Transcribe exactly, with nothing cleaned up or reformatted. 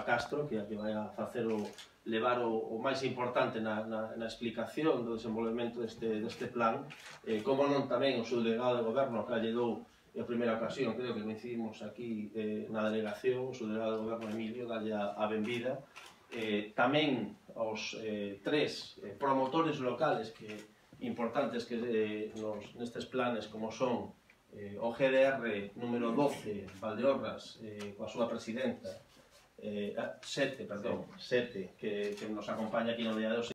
Eva Castro, que é a que vai a facer o, levar o, o máis importante na, na, na explicación do desenvolvemento deste, deste plan, eh, como non tamén o seu delegado de goberno que lle dou a primeira ocasión, creo que coincidimos aquí eh, na delegación, o seu delegado de goberno Emilio, dalle a, a benvida, eh, tamén aos eh, tres eh, promotores locales que importantes que eh, nos, nestes planes como son eh, o G D R número doce, Valdeorras, eh, coa súa presidenta, eh, sete, perdón, sete, que, que nos acompaña aquí no día de hoxe.